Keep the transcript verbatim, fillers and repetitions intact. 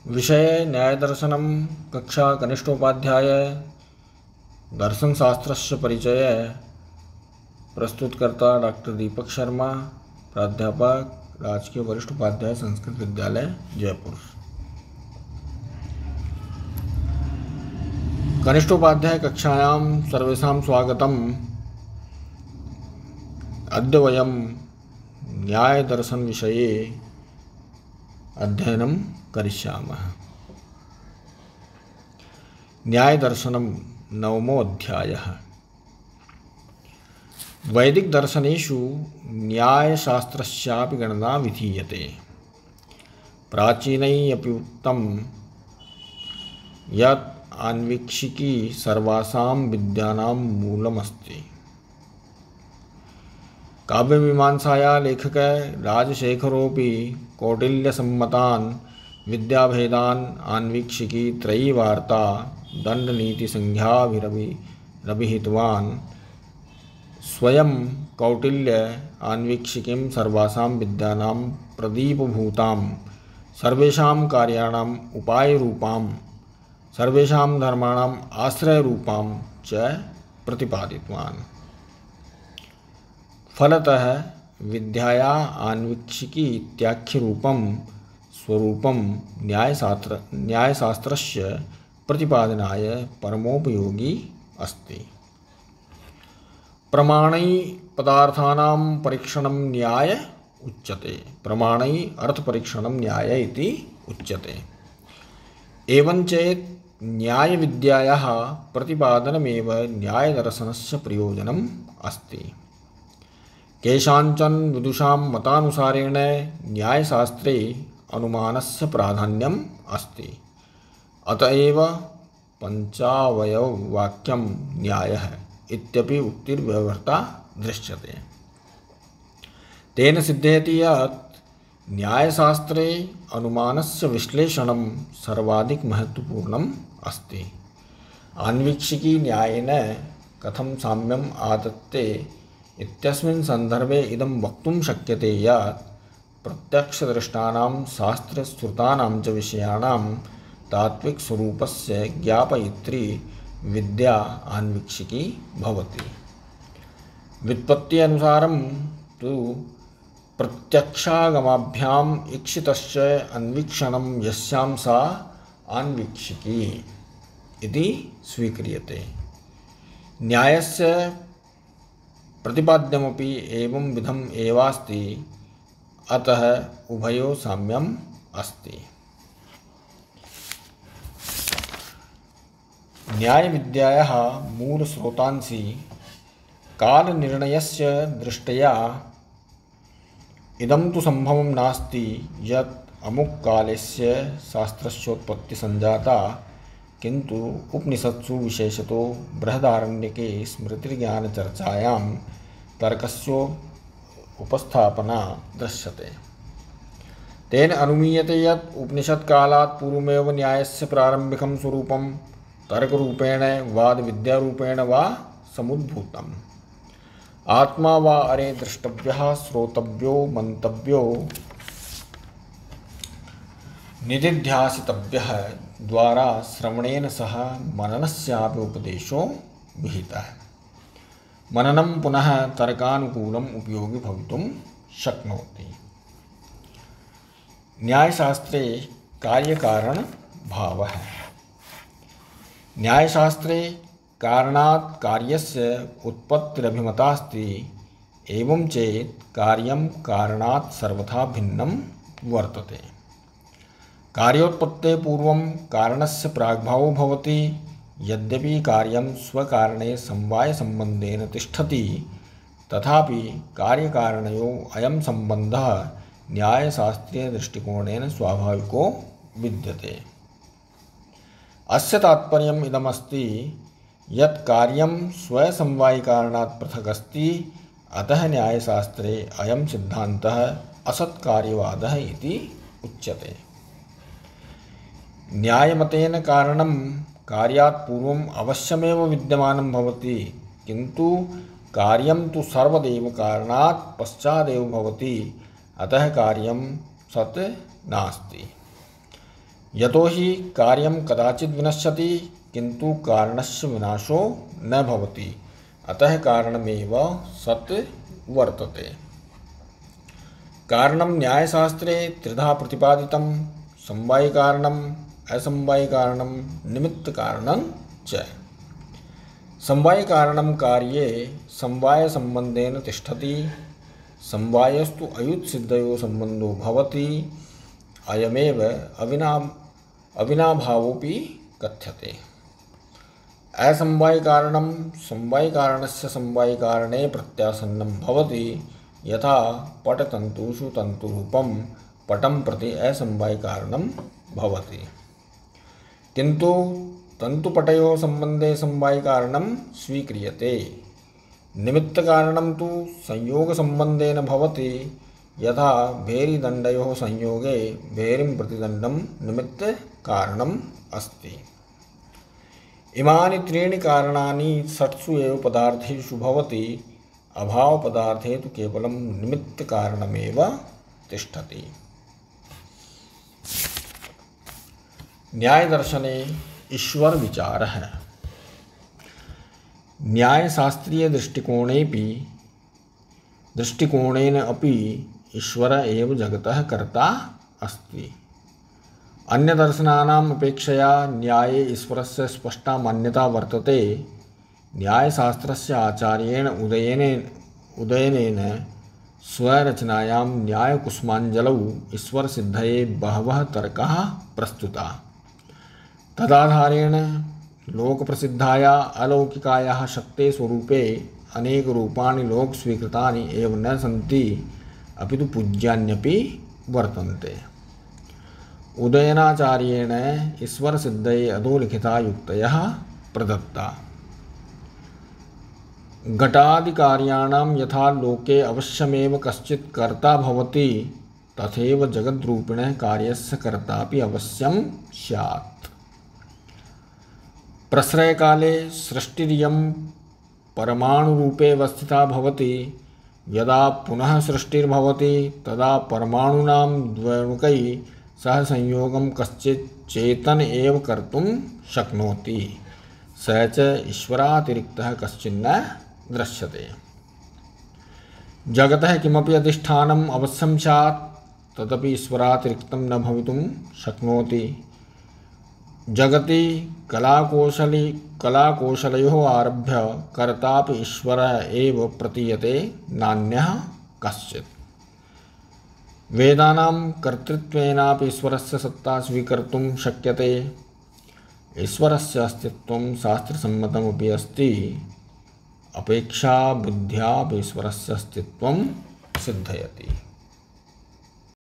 विषय न्यायदर्शनं कक्षा कनिष्ठोपाध्याय दर्शनशास्त्रस्य परिचय। प्रस्तुतकर्ता डॉक्टर दीपक शर्मा, प्राध्यापक राजकीय वरिष्ठ उपाध्याय संस्कृत विद्यालय जयपुर। कनिष्ठोपाध्याय कक्षायां सर्वेषां स्वागतम्। अद्य वयं न्यायदर्शन विषये अध्ययनं करिष्यामः। न्यायदर्शनं नवमो अध्यायः। वैदिक दर्शनेषु न्यायशास्त्रस्यापि गणना विधीयते। प्राचीनैः अपि उक्तं यत् आन्वीक्षिकी सर्वासां विद्यानां मूलमस्ति। काव्यमीमांसाया लेखकः राजशेखरोऽपि कौटिल्यसम्मतान् विद्याभेदान् आन्वीक्षिकी त्रयी वार्ता दण्डनीतिसंज्ञाभिरभिहितवान्। स्वयं कौटिल्य आन्वीक्षिकीं सर्वासां विद्यानां प्रदीपभूतां, सर्वेषां कार्याणाम् उपायरूपां, सर्वेषां धर्माणाम् आश्रयरूपां च प्रतिपादितवान्। फलतः विद्याया आन्वीक्षिकी इत्याख्यरूपं स्वरूपं न्यायशास्त्र न्यायशास्त्रस्य प्रतिपादनाय परमोपयोगी अस्ति। प्रमाणैः पदार्थानां परीक्षणं न्याय उच्यते। प्रमाणैः अर्थपरीक्षणं न्याय इति उच्यते। एवं चेत् न्यायविद्यायाः प्रतिपादनमेव न्यायदर्शनस्य प्रयोजनम् अस्ति। केषाञ्चन विदुषां मतानुसारेण न्यायशास्त्रे अनुमानस्य प्राधान्यम् अस्ति। अतएव पञ्चावयववाक्यं न्यायः इत्यपि उक्तिर्व्यवहृता दृश्यते। तेन सिद्ध्यति यत् न्यायशास्त्रे अनुमानस्य विश्लेषणं सर्वाधिक महत्वपूर्णम् अस्ति। आन्वीक्षिकी न्यायेन कथं साम्यम् आदत्ते इत्यस्मिन् सन्दर्भे इदं वक्तुं शक्यते यत् प्रत्यक्षदृष्टानां शास्त्रश्रुतानां च विषयाणां तात्विकस्वरूपस्य ज्ञापयित्री विद्या आन्वीक्षिकी भवति। व्युत्पत्त्यनुसारं तु प्रत्यक्षागमाभ्याम् ईक्षितस्य अन्वीक्षणं यस्यां सा आन्वीक्षिकी इति स्वीक्रियते। न्यायस्य प्रतिपाद्यमपि एवं विधम् एवास्ति। अतः उभयोः साम्यम् अस्ति। न्यायविद्यायाः मूलस्रोतांसि कालनिर्णयस्य दृष्ट्या इदं तु सम्भवं नास्ति यत् अमुककालस्य शास्त्रस्योत्पत्तिः सञ्जाता, किन्तु उपनिषत्सु विशेषतो बृहदारण्यके स्मृतिज्ञानचर्चायां तर्कस्य उपस्थापना दृश्यते। तेन अनुमीयते यत् उपनिषत्कालात् पूर्वमेव न्यायस्य प्रारम्भिकं स्वरूपं तर्करूपेण वादविद्यारूपेण वा समुद्भूतम्। आत्मा वा अरे द्रष्टव्यः, श्रोतव्यो, मन्तव्यो, निदिध्यासितव्यः द्वारा श्रवणेन सह मननस्यापि उपदेशो विहितः। मननं पुनः तर्कानुकूलम् उपयोगी भवितुं शक्नोति। न्यायशास्त्रे कार्यकारणभावः। न्यायशास्त्रे कारणात् कार्यस्य उत्पत्तिरभिमतास्ति। एवं चेत् कार्यं कारणात् सर्वथा भिन्नं वर्तते। कार्योत्पत्तेः पूर्वं कारणस्य प्राग्भावो भवति। यद्यपि कार्यं स्वकारणे समवायसम्बन्धेन तिष्ठति, तथापि कार्यकारणयोः अयं सम्बन्धः न्यायशास्त्रीयदृष्टिकोणेन स्वाभाविको विद्यते। अस्य तात्पर्यम् इदमस्ति यत् कार्यं स्वसमवायिकारणात् पृथक् अस्ति। अतः न्यायशास्त्रे अयं सिद्धान्तः असत्कार्यवादः इति उच्यते। न्यायमतेन कारणं कार्यात् पूर्वम् अवश्यमेव विद्यमानं भवति, किन्तु कार्यं तु सर्वदैव कारणात् पश्चादेव भवति। अतः कार्यं सत् नास्ति। यतो हि कार्यं कदाचित् विनश्यति किन्तु कारणस्य विनाशो न भवति, अतः कारणमेव सत् वर्तते। कारणं न्यायशास्त्रे त्रिधा प्रतिपादितं: समवायिकारणं, असमवायिकारणं, निमित्तकारणं च। समवायिकारणं कार्ये समवायसम्बन्धेन तिष्ठति। समवायस्तु अयुत्सिद्धयोः सम्बन्धो भवति। अयमेव अविना अविनाभावोऽपि कथ्यते। असमवायिकारणं समवायिकारणस्य समवायिकारणे प्रत्यासन्नं भवति, यथा पटतन्तुषु तन्तुरूपं पटं प्रति असमवायिकारणं भवति। किन्तु तन्तुपटयोः सम्बन्धे समवायिकारणं स्वीक्रियते। निमित्तकारणं तु संयोगसम्बन्धेन भवति, यथा भेरीदण्डयोः संयोगे भेरीं प्रतिदण्डं निमित्तकारणम् अस्ति। इमानि त्रीणि कारणानि षट्सु एव पदार्थेषु भवति। अभावपदार्थे तु केवलं निमित्तकारणमेव तिष्ठति। न्यायदर्शने ईश्वर विचारः। न्यायशास्त्रीय दृष्टिकोणेपि दृष्टिकोणेन अपि ईश्वर एव जगतः कर्ता अस्ति। अन्यदर्शनानाम् अपेक्षया न्याये ईश्वरस्य स्पष्टा मान्यता वर्तते। न्यायशास्त्रस्य आचार्येण उदयनेन उदयनेन स्वरचनायां न्यायकुसुमाञ्जलौ ईश्वरसिद्धये बहवः तर्काः प्रस्तुताः। तदाधारेण लोकप्रसिद्धाया अलौकिकायाः शक्तेः स्वरूपे अनेकरूपाणि लोकस्वीकृतानि एव न सन्ति, अपि तु पूज्यान्यपि वर्तन्ते। उदयनाचार्येण ईश्वरसिद्धये अधोलिखिता युक्तयः प्रदत्ता। घटादिकार्याणां यथा लोके अवश्यमेव कश्चित् कर्ता भवति, तथैव जगद्रूपिणः कार्यस्य कर्तापि अवश्यं स्यात्। प्रश्रयकाले सृष्टिरियं परमाणुरूपे वस्थिता भवति। यदा पुनः सृष्टिर्भवति तदा परमाणूनां द्वयोर्कैः सह संयोगं कश्चित् चेतन एव कर्तुं शक्नोति। स च ईश्वरातिरिक्तः कश्चिन्न दृश्यते। जगतः किमपि अधिष्ठानम् अवश्यं स्यात्, तदपि ईश्वरातिरिक्तं न भवितुं शक्नोति। जगति कलाकौशली कलाकौशलयोः आरभ्य कर्तापि ईश्वरः एव प्रतीयते, नान्यः कश्चित्। वेदानां कर्तृत्वेनापि ईश्वरस्य सत्ता स्वीकर्तुं शक्यते। ईश्वरस्य अस्तित्वं शास्त्रसम्मतमपि अस्ति। अपेक्षा बुद्ध्यापि ईश्वरस्य अस्तित्वं सिद्धयति।